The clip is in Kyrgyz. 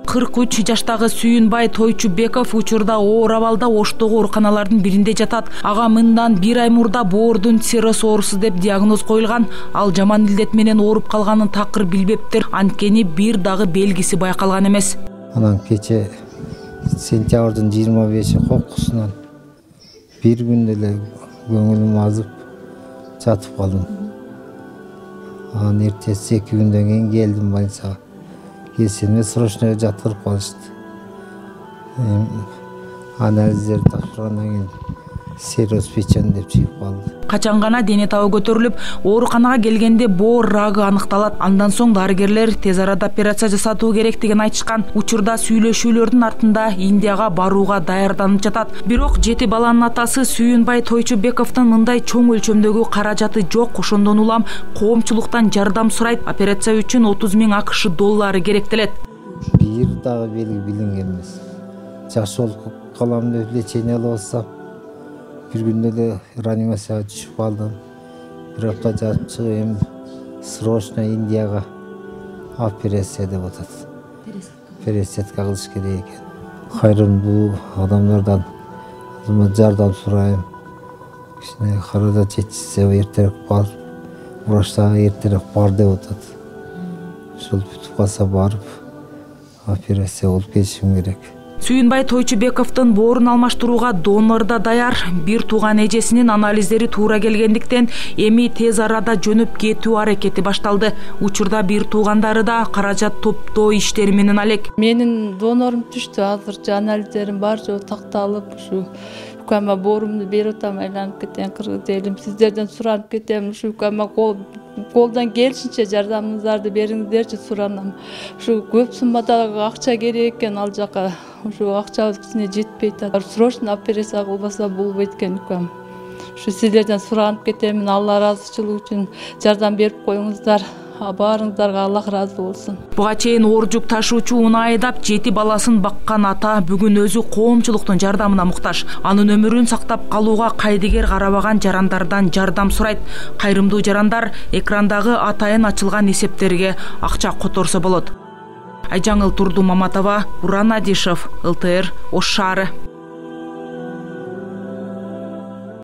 43 жаштагы Сүйүнбай Тойчубеков учурда оор абалда Оштогу ооруканалардын биринде жатат. Ага мындан 1 ай мурда боордун цирроз оорусу деп диагноз коюлган. Ал жаман илдет менен ооруп калганын такыр билбептир. Анткени бир дагы белгиси байкалган эмес. Анан кече сентябрдын 25-и кокусунан бир күн эле көңүлүм азып жатып калдым. Анан эртеси 2 күндөн кийин келдим больницага. Келсем срочно жаткырып калышты. Анализдер тапшыргандан кийин цирроз печени деп чыгып калды. Качан гана дене табы көтөрүлүп, ооруканага келгенде боор рагы аныкталат. Андан соң дарыгерлер тез арада операция жасатуу керектигин айтышкан. Учурда сүйлөшүүлөрдүн артында Индияга барууга даярданып жатат. Бирок 7 баланын атасы Сүйүнбай Тойчубековдун мындай чоң өлчөмдөгү каражаты жок. Ошондон улам коомчулуктан жардам сурайт. Операция үчүн 30 000 АКШ доллары керектелет. Бир дагы белги билинген эмес. Жакшы болуп калам деп лечение алып атсам, бир күндө эле реанимацияга түшүп калдым. Бир апта жатып чыгып эми срочно Индияга операция деп атат. Пересадка кылыш керек экен. Кайрымдуу адамдардан жардам сурайм. Кичине каражат жетишсе эртерээк барып, врачтарга эртерээк бар деп атат. Ошол бүтүп калса барып операция болуп келишим керек. Сүйүнбай Тойчубековдун боорун алмаштырууга донор да даяр. Бир тууган эжесинин анализдери туура келгендиктен эми тез арада жөнөп кетүү аракети башталды. Учурда бир туугандары да каражат топтоо иштери менен алек. Менин донорум түштү. Азырчы анализдерим бар жөө такталып, ушу укама боорумду берип атам, айланып кетем, кыргыз элим. Сиздерден суранып кетем, ушу укама колдон келишинче жардамыңыздарды бериңиздерчи суранам. Ушу көп суммадагы акча керек экен ал жака. Ушу акчабыз кичине жетпейт. Срочно операция кылбаса болбойт экен укам. Ушу сиздерден суранып кетем, Алла ыраазычылыгы үчүн жардам берип коюңуздар. Баарыңыздарга Аллах ыраазы болсун. Буга чейин оор жүк ташуучу унаа айдап 7 баласын баккан ата бүгүн өзү коомчулуктун жардамына муктаж. Анын өмүрүн сактап калууга кайдыгер карабаган жарандардан жардам сурайт. Кайрымдуу жарандар экрандагы атайын ачылган эсептерге акча которсо болот. Айжаңыл Турду Маматова, Буран Адишев, ЛТР, Ош шаары.